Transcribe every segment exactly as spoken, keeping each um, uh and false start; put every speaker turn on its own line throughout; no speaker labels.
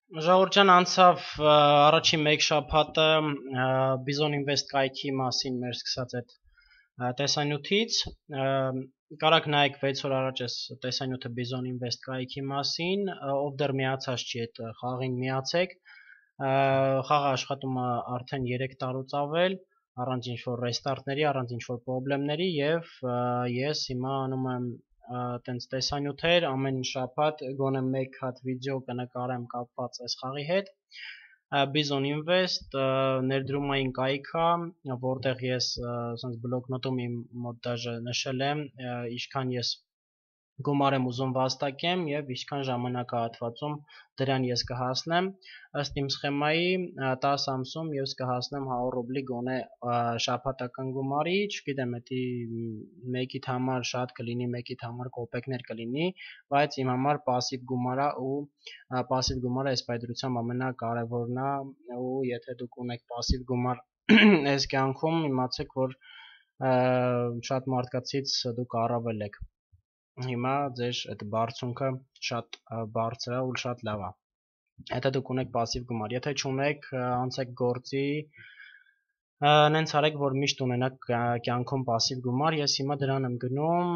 Ժողովուրդ անցավ առաջին մեկ շաբաթը Bison Invest կայքի մասին մեր սկսած այդ տեսանյութից, կարաք նայեք վեց օր առաջ այս տեսանյութը Bison Invest կայքի մասին, ով դեռ միացած չի այդ խաղին միացեք, խաղը աշխատում է արդեն երեք տարուց ավել, առանց ինչ-որ ռեստարտների, առանց ինչ-որ պրոբլեմների և ես հիմա անում եմ տենց տեսանյութեր, ամեն շաբաթ գոնե մեկ հատ վիդեո կնկարեմ կապված այս խաղի հետ։ Bison Invest ներդրումային կայք է, որտեղ ես բլոկնոտում իմ մոտ դաժե նշել եմ, ինչքան ես գումար եմ ուզում վաստակեմ և ինչքան ժամանակահատվածում դրան ես կհասնեմ, ըստ իմ սխեմայի տասը ամսում ես կհասնեմ հարյուր ռուբլի գոնե շաբաթական գումարի, չգիտեմ էդի մեկիդ համար շատ կլինի, մեկիդ համար կոպեկներ կլինի, բայց իմ համար պասիվ գումար է ու պասիվ գումարը այս պայծրությամբ ամենակարևորն է, ու եթե դուք ունեք պասիվ գումար այս կյանքում, իմացեք, որ շատ մարդկանցից դուք առավել եք։ Հիմա ձեր այդ բարձունքը շատ բարձր է ու շատ լավ է։ Եթե դուք ունեք պասիվ գումար, եթե չունեք, անցեք գործի, նենց արեք, որ միշտ ունենաք կյանքում պասիվ գումար, ես հիմա դրան եմ գնում,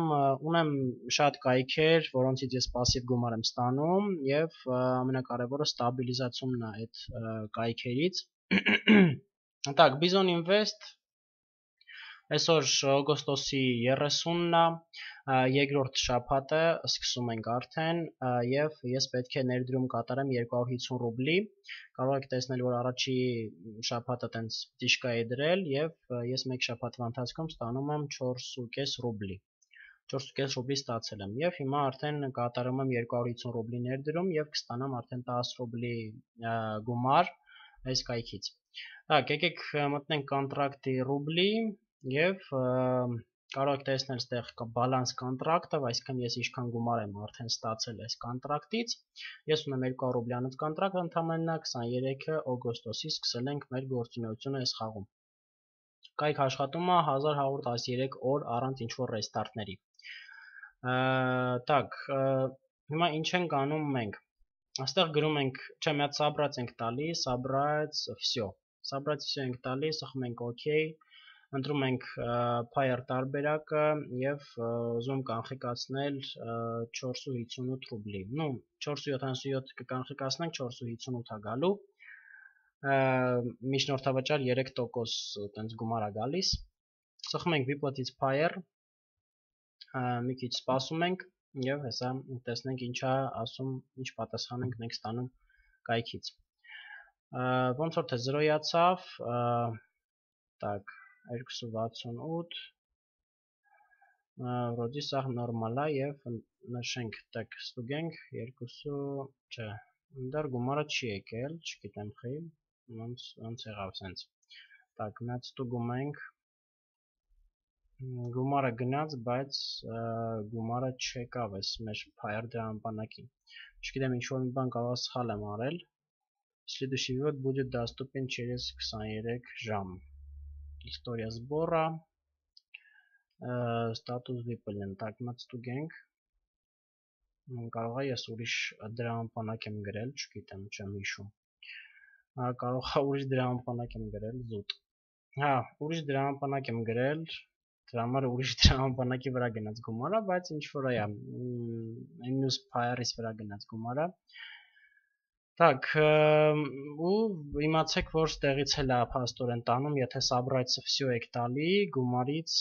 ունեմ շատ կայքեր, որոնցից ես պասիվ գումար եմ ստանում և ամենակարևորը ստաբիլիզացումն է այդ կայքերից։ Так, Bison Invest այսօր օգոստոսի երեսունն է, երկրորդ շաբաթը սկսում ենք արդեն և ես պետք է ներդրում կատարեմ երկու հարյուր հիսուն ռուբլի, կարող եք տեսնել, որ առաջի շաբաթը տենց տիշկա է դրել և ես մեկ շաբաթվա ընթացքում ստանում եմ չորս ու կես ռուբլի, չորս ու կես ռուբլի ստացել եմ և հիմա արդեն կատարում եմ երկու հարյուր հիսուն ռուբլի ներդրում և կստանամ արդեն տասը ռուբլի գումար այս կայքից։ Так, եկեք մտնենք կոնտրակտի ռուբլի և կարող եք տեսնել ստեղ բալանս կոնտրակտը, այսինքն ես ինչքան գումար եմ արդեն ստացել այս կոնտրակտից, ես ունեմ երկու հարյուր ռուբլյանոց կոնտրակտ, ընդամենը քսաներեքը օգոստոսի սկսել ենք մեր գործունեությունը այս խաղում։ Կայք աշխատում է հազար հարյուր տասներեք օր առանց ինչ-որ ռեստարտների։ Так, հիմա ինչ ենք անում մենք։ Այստեղ գրում ենք, չէ, մի հատ սաբրած ենք տալիս, սաբրած, всё։ Սաբրած всё ենք տալիս, ըխում ենք OK, ընտրում ենք Payer տարբերակը և ուզում կանխիկացնել չորս ու հիսունութ ռուբլի։ Ну, չորս ու յոթանասունյոթ կկանխիկացնենք, չորս ու հիսունութ է գալու։ Միջնորդավճար երեք տոկոս տենց գումար է գալիս։ Սխում ենք Վիպոտից Payer, մի քիչ սպասում ենք և հեսա տեսնենք ինչ է ասում, ինչ պատասխան ենք մենք ստանում կայքից։ Ոնց որ թե զրոյացավ, так, երկու վաթսունութ, վրոդի սաղ նորմալ է և նշենք, так, ստուգենք, երկու, չէ, դեռ գումարը չի եկել, չգիտեմ խի, ոնց եղավ սենց, так, մի հատ ստուգում ենք, գումարը գնաց, բայց գումարը չեկավ այս մեր Payer դրամապանակին, չգիտեմ ինչ-որ մի բան կարող սխալ եմ արել, следующий вывод будет доступен через քսաներեք ժամ, история сбора, status выполнен, так, մի հատ ստուգենք, կարող է ես ուրիշ դրամապանակ եմ գրել, չգիտեմ, չեմ հիշում, կարող է ուրիշ դրամապանակ եմ գրել, զուտ, հա, ուրիշ դրամապանակ եմ գրել, դրա համար ուրիշ դրամապանակի վրա գնաց գումարը, բայց ինչ-որ է, այն մյուս Payer-ից վրա գնաց գումարը, так, ու իմացեք, որ ստեղից էլ է փաստորեն տանում, եթե սաբրայցը всё եք տալի, գումարից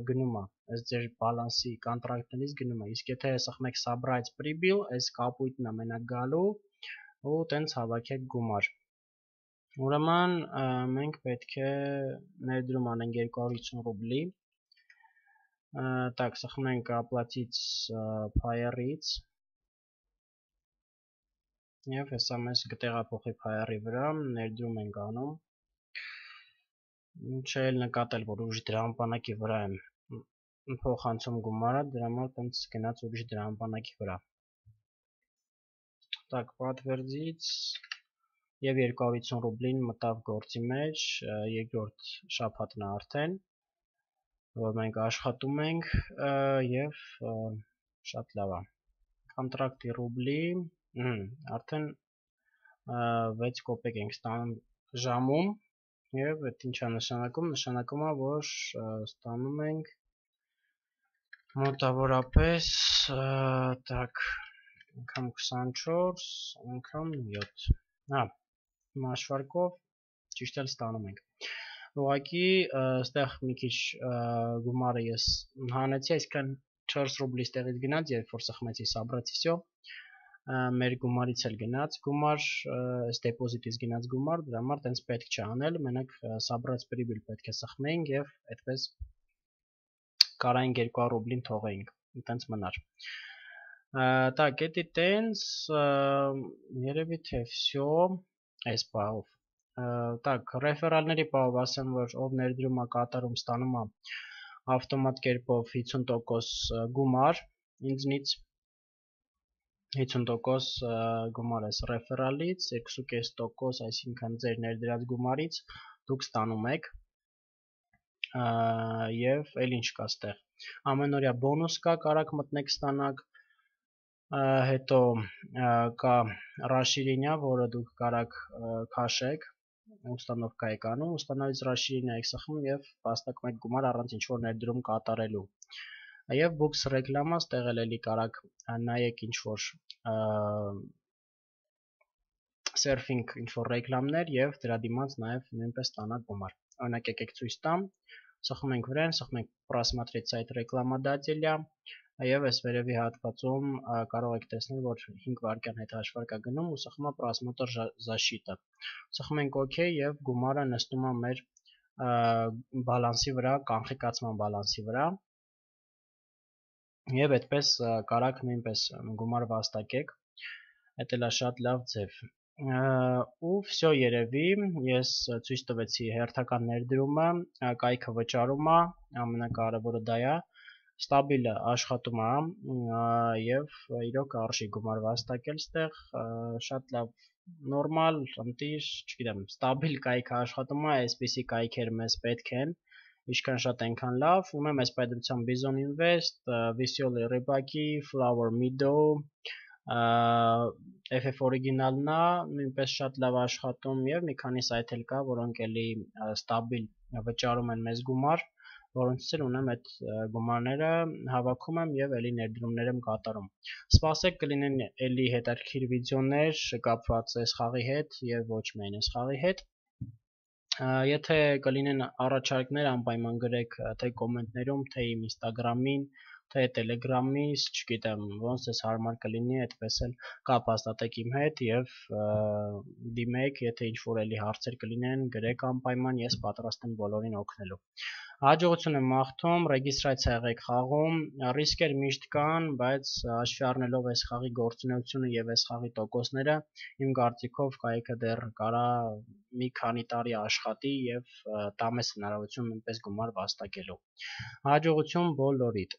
գնում է, այս ձեր բալանսի կոնտրակտներից գնում է, իսկ եթե սխում եք սաբրայց պրիբիլ, այս կապույտն է մենակ գալու ու տենց հավաքեք գումար։ Ուրեմն մենք պետք է ներդրում անենք երկու հարյուր հիսուն ռուբլի, так, սխում ենք ապլատից Payer-ից, և հեսա մեզ կտեղափոխի Payer-ի վրա, ներդրում ենք անում, չէ էլ նկատել, որ ուրիշ դրամապանակի վրա եմ փոխանցում գումարը, դրա համար տենց գնաց ուրիշ դրամապանակի վրա։ Так, պատվերձից և երկու հարյուր հիսուն ռուբլին մտավ գործի մեջ, երկրորդ շաբաթն է արդեն, որ մենք աշխատում ենք և շատ լավ է։ Կոնտրակտի ռուբլի, արդեն վեց կոպեկ ենք ստանում ժամում եւ այդ ինչա նշանակում, նշանակում է, որ ստանում ենք մոտավորապես так անգամ քսանչորս անգամ յոթ հա մաշվարկով ճիշտ էլ ստանում ենք ուղղակի այստեղ մի քիչ գումարը ես հանեցի այսքան չորս ռուբլի ստեղից գնաց երբ որ սխմեցի սաբրացի всё մեր գումարից էլ գնաց գումար այս դեպոզիտից գնաց գումար դրա համար տենց պետք չէ անել մենակ սաբրած պրիբիլ պետք է սխմեինք եւ այդպես կարայինք երկու հարյուր ռուբլին թողեինք տենց մնար так էդի տենց երևի թե всё այս բաղով так ռեֆերալների բաղով ասեմ որ ով ներդրում է կատարում ստանում է ավտոմատ կերպով հիսուն տոկոս գումար ինձնից հիսուն տոկոս գումար էս ռեֆերալից, երկու կես տոկոս, այսինքն ձեր ներդրած գումարից դուք ստանում եք եւ էլ ինչ կա ստեղ։ Ամենօրյա բոնուս կա, կարաք մտնեք ստանաք, հետո կա ռաշիրինյա, որը դուք կարաք քաշեք, ուստանովկա եք անում, ուստանալից ռաշիրինյա եք սխմում եւ վաստակում եք գումար առանց ինչ-որ ներդրում կատարելու։ Եվ բուքս ռեկլամա ստեղ էլի կարաք նայեք ինչ-որ սերֆինգ ինչ-որ ռեկլամներ եւ դրա դիմաց նաեւ նույնպես ստանաք գումար։ Օրինակ եկեք ցույց տամ, սխմում ենք վրան, սխմում ենք просмотреть сайт ռեկլամադателя եւ այս վերևի հատվածում կարող եք տեսնել, որ հինգ վայրկյան հետ հաշվարկ է գնում ու սխմում է просмотр защита։ Սխմում ենք OK եւ գումարը նստում է մեր բալանսի վրա, կանխիկացման բալանսի վրա։ Եվ այդպես կարաք նույնպես գումար վաստակեք, այդ էլ է շատ լավ ձև։ Ու всё երևի, ես ցույց տվեցի հերթական ներդրումը, կայքը վճարումը, ամենակարևորը դա է, ստաբիլը աշխատում է եւ իրոք արժի գումար վաստակել ստեղ, շատ լավ, նորմալ, ընտիր, չգիտեմ, ստաբիլ կայքը աշխատում է, այսպիսի կայքեր մեզ պետք են։ Ինչքան շատ այնքան լավ, ունեմ այս պայծրությամբ Bison Invest, Visual Rybaki, Flower Meadow, F F Original-ն է, նույնպես շատ լավ աշխատում եւ մի քանի սայթ էլ կա, որոնք էլի ստաբիլ վճարում են մեզ գումար, որոնցից էլ ունեմ այդ գումարները հավաքում եմ եւ էլի ներդրումներ եմ կատարում։ Սպասեք կլինեն էլի հետաքրքիր վիդեոներ կապված այս խաղի հետ եւ ոչ միայն այս խաղի հետ։ Եթե կլինեն առաջարկներ, անպայման գրեք թե կոմենտներում, թե իմ Instagram-ին, թե Telegram-ից, չգիտեմ, ոնց էս հարմար կլինի, այդպես էլ կապ հաստատեք իմ հետ եւ դիմեք, եթե ինչ-որ էլի հարցեր կլինեն, գրեք անպայման, ես պատրաստ եմ բոլորին օգնելու։ Հաջողություն եմ մաղթում, ռեգիստրացիա եղեք խաղում, ռիսկեր միշտ կան, բայց հաշվի առնելով այս խաղի գործունեությունը եւ այս խաղի տոկոսները, իմ կարծիքով կայքը դեռ կարա մի քանի տարի աշխատի եւ տա մեզ հնարավորություն նույնպես գումար վաստակելու։ Հաջողություն բոլորիդ։